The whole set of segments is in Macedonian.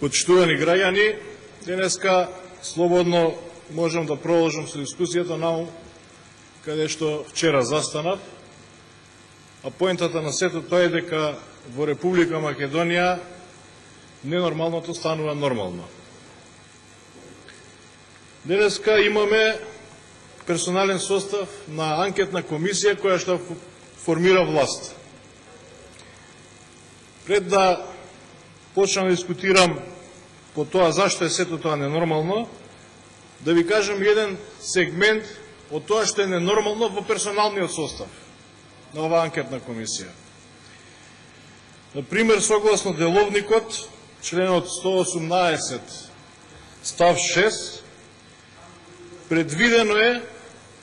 Почитувани граѓани, денеска слободно можам да продолжам со дискусијата наму каде што вчера застанав, а поентата на сето тоа е дека во Република Македонија ненормалното станува нормално. Денеска имаме персонален состав на анкетна комисија која што формира власт. Пред да почнам да дискутирам по тоа зашто е сето тоа ненормално, да ви кажам еден сегмент од тоа што е ненормално во персоналниот состав на оваа анкетна комисија. Например, согласно деловникот, членот 118 став 6, предвидено е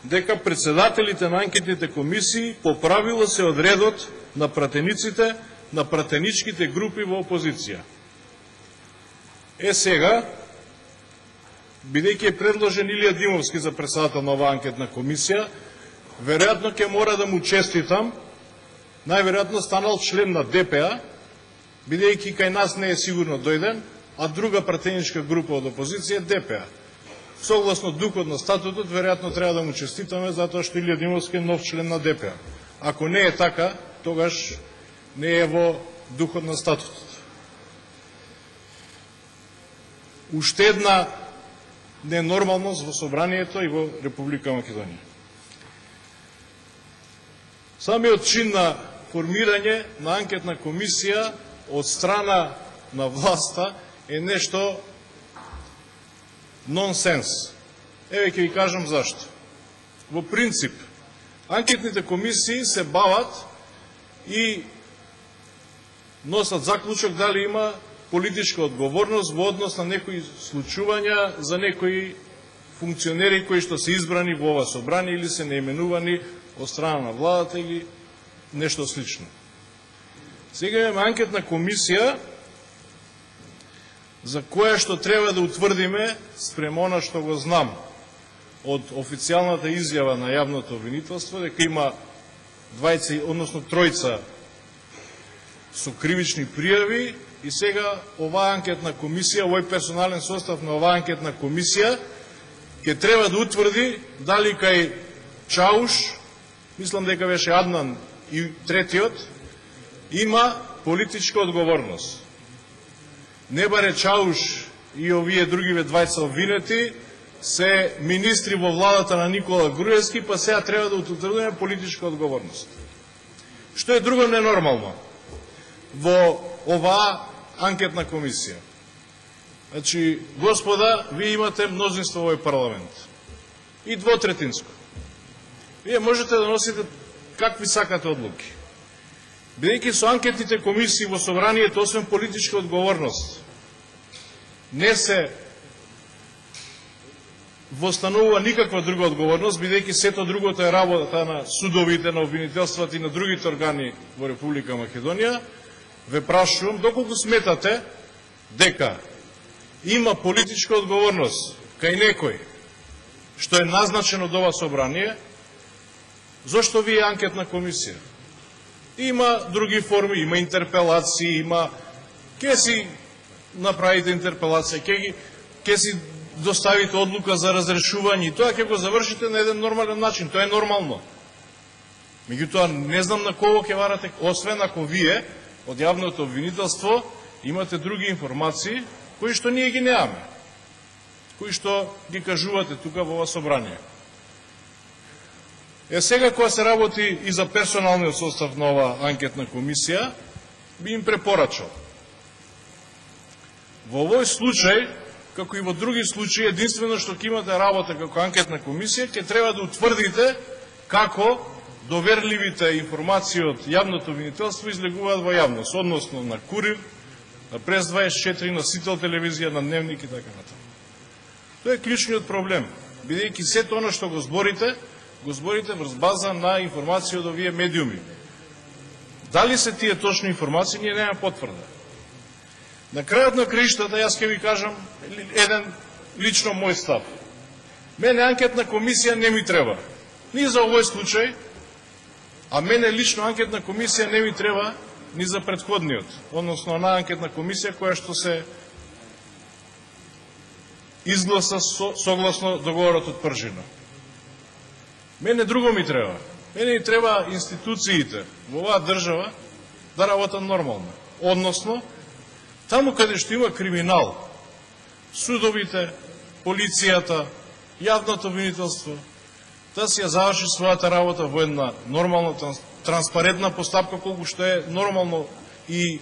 дека председателите на анкетните комисии по правило се од редот на пратениците на пратеничките групи во опозиција. Сега, бидејќи е предложен Илија Димовски за председател на оваа анкетна комисија, веројатно ќе мора да му честитам, најверојатно станал член на ДПА, бидејќи кај нас не е сигурно дојден, а друга пратеничка група од опозиција е ДПА. Согласно духот на статутот, веројатно треба да му честитаме затоа што Илија Димовски е нов член на ДПА. Ако не е така, тогаш не е во духот на статутот. Уште една ненормалност во собранието и во Република Македонија. Самиот чин на формирање на анкетна комисија од страна на власта е нешто нонсенс. Еве ќе ви кажам зашто. Во принцип, анкетните комисии се бават и носат заклучок дали има политичка одговорност во однос на некои случувања за некои функционери кои што се избрани во ова собрание или се наименувани од страна на владата или нешто слично. Сега имаме анкетна комисија за која што треба да утврдиме спрема она што го знам од официјалната изјава на јавното обвинителство дека има тројца со кривични пријави и сега оваа анкетна комисија, овој персонален состав на оваа анкетна комисија ќе треба да утврди дали кај Чауш, мислам дека беше Аднан и третиот, има политичка одговорност. Не баре Чауш и овие другиве двајца обвинети се министри во владата на Никола Груевски, па сега треба да утврдиме политичка одговорност. Што е друго ненормално во оваа анкетна комисија? Значи, господа, вие имате мнозинство во овој парламент. И двотретинско. Вие можете да носите какви сакате одлуки. Бидејќи со анкетните комисии во собранието, освен политичка одговорност, не се востанува никаква друга одговорност, бидејќи сето другото е работата на судовите, на обвинителствата и на другите органи во Република Македонија, ве прашувам, доколку сметате дека има политичка одговорност кај некој што е назначен од ова собрание, зошто ви е анкетна комисија? Има други форми, има интерпелации, има... Ке си направите интерпелација, ке си доставите одлука за разрешување и тоа ќе го завршите на еден нормален начин. Тоа е нормално. Меѓутоа, не знам на кого ќе варате, освен ако вие од јавното обвинителство имате други информации, кои што ние ги неаме, кои што ги кажувате тука во ова собрание. Сега, кога се работи и за персоналниот состав на ова анкетна комисија, би им препорачал. Во овој случај, како и во други случаи, единствено што ќе имате работа како анкетна комисија, ќе треба да утврдите како доверливите информации од јавното обвинителство излегуваат во јавност, односно на Курир, на Прес 24, на Сител телевизија, на Дневник и така натаму. Тоа е клучниот проблем, бидејќи сето оно што го зборите врз база на информации од овие медиуми. Дали се тие точни информации, ние нема потврда. На крајот на краиштата, јас ќе ви кажам еден лично мој став. Мене анкетна комисија не ми треба. Ни за овој случај, а мене лично анкетна комисија не ми треба ни за предходниот, односно на анкетна комисија која што се изгласа согласно договорот од Пржина. Мене друго ми треба. Мене ни треба институциите во оваа држава да работат нормално. Односно, таму каде што има криминал, судовите, полицијата, јавното обвинителство, да си ја заврши својата работа во една нормална, транспарентна постапка, колку што е нормално и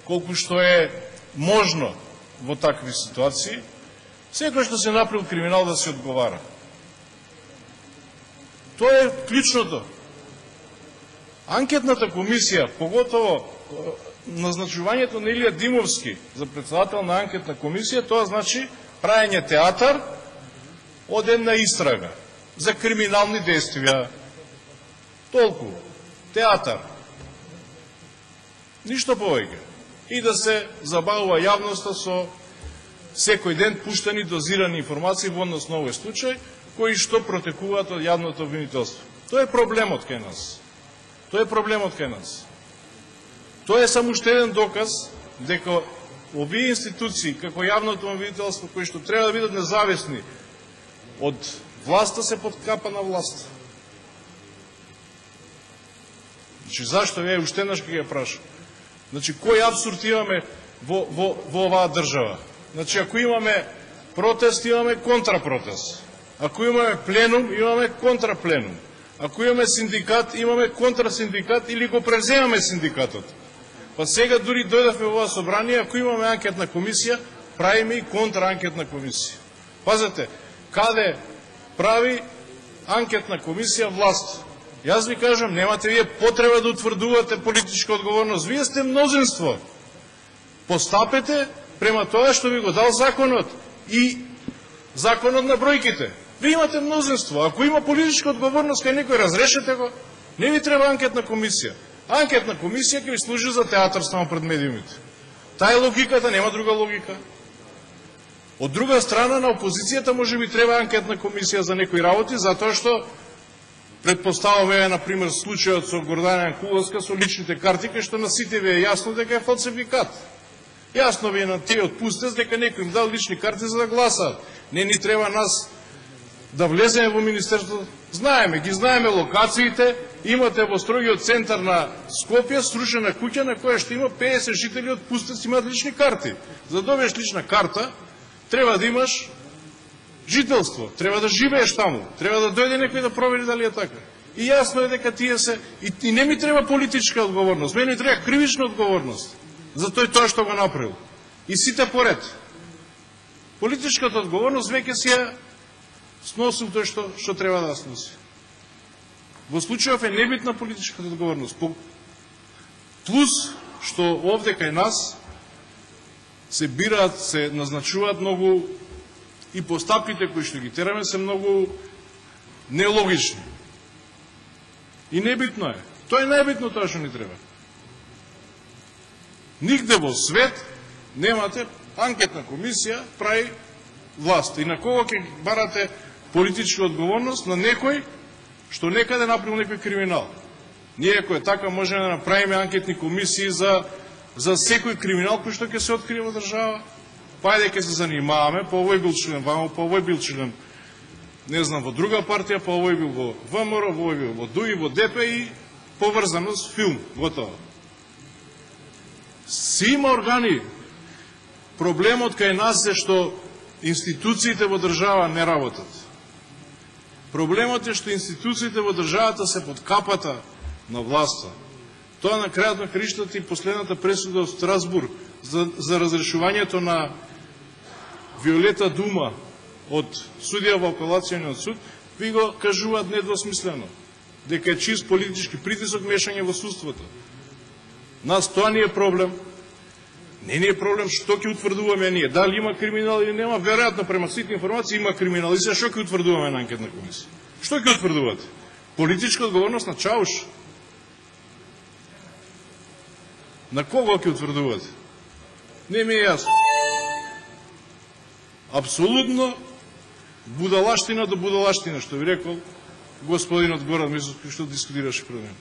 колку што е можно во такви ситуации, секој што се направил криминал да се одговара. Тоа е клучното. Анкетната комисија, поготово назначувањето на Илија Димовски за председател на анкетна комисија, тоа значи правење театар од една истрага за криминални действија. Толку. Театар. Ништо повеќе. И да се забавува јавноста со секој ден пуштени дозирани информации во однос на овој случај, кои што протекуваат од јавното обвинителство. Тоа е проблемот кај нас. Тоа е проблемот кај нас. Тоа е само уште еден доказ дека овие институции, како јавното обвинителство, кои што треба да бидат независни од власта, се подкапа на власт. Значи, зашто вие уште еднаш ќе ја прашам? Значи, кој абсурд имаме во оваа држава? Значи, ако имаме протест, имаме контрапротест. Ако имаме пленум, имаме контрапленум. Ако имаме синдикат, имаме контрасиндикат или го преземаме синдикатот. Па сега дури дојдавме во ова собрание, ако имаме анкетна комисија, правиме и контраанкетна комисија. Пазете, каде прави анкетна комисија власт? Јас ви кажам, немате вие потреба да утврдувате политичка одговорност. Вие сте мнозинство. Постапете према тоа што ви го дал законот и законот на бројките. Вие имате мнозинство. Ако има политичка одговорност кај некој, разрешете го. Не ви треба анкетна комисија. Анкетна комисија ќе ви служи за театар само пред медиумите. Таа е логиката, нема друга логика. Од друга страна, на опозицијата може би треба анкетна комисија за некои работи, затоа што предпоставаме, например, случајот со Гордана Јанкуловска со личните карти, кај што на сите ви е јасно дека е фалсификат. Јасно ви е на тие отпустец дека некој им дал лични карти за да гласаат. Не ни треба нас да влеземе во Министерството. Знаеме, ги знаеме локациите, имате во строгиот центар на Скопје срушена куќа на која што има 50 жители отпустец имаат лични карти. За да добиеш лична карта, треба да имаш жителство, треба да живееш таму, треба да дојде некој да провери дали е така. И јасно е дека тие се, и не ми треба политичка одговорност, мене треба кривична одговорност за тоа што го направил. И сите поред. Политичката одговорност веќе си ја сносил тој што треба да сноси. Во случајов е небитна политичката одговорност. Плюс што овде кај нас се бираат, се назначуваат многу и постапките кои што ги тераме се многу нелогични. И небитно е. Тоа е најбитно тоа што ни треба. Нигде во свет немате анкетна комисија прави власт. И на кого ќе барате политичка одговорност? На некој што некаде направил некој криминал. Ние, ако е така, можеме да направиме анкетни комисии за секој криминал кој што ќе се открие во држава. Па ајде ќе се занимаваме, па овој бил член вамо, па овој бил член, не знам, во друга партија, па овој бил во ВМРО, овој бил во ДУИ, во ДП и поврзано с филм, готово. Си има органи. Проблемот кај нас е што институциите во држава не работат. Проблемот е што институциите во државата се под капата на власта. Тоа на крајот на краиштата и последната пресуда од Страсбург за разрешувањето на Виолета Дума од судија во апелацијниот суд, ви го кажуваат недвосмислено, дека е чист политички притисок, мешање во судството. Нас тоа не е проблем. Не е проблем што ќе утврдуваме ние. Дали има криминал или нема, веројатно према сите информации има криминал. И се што ќе утврдуваме на анкетна комисија? Што ќе утврдувате? Политичка одговорност на Чауш? На кого ќе утврдувате? Не ми е јасно. Апсолутно будалаштина до будалаштина, што ви рекол господинот Горан Мисовски, што дискутираше пред мене.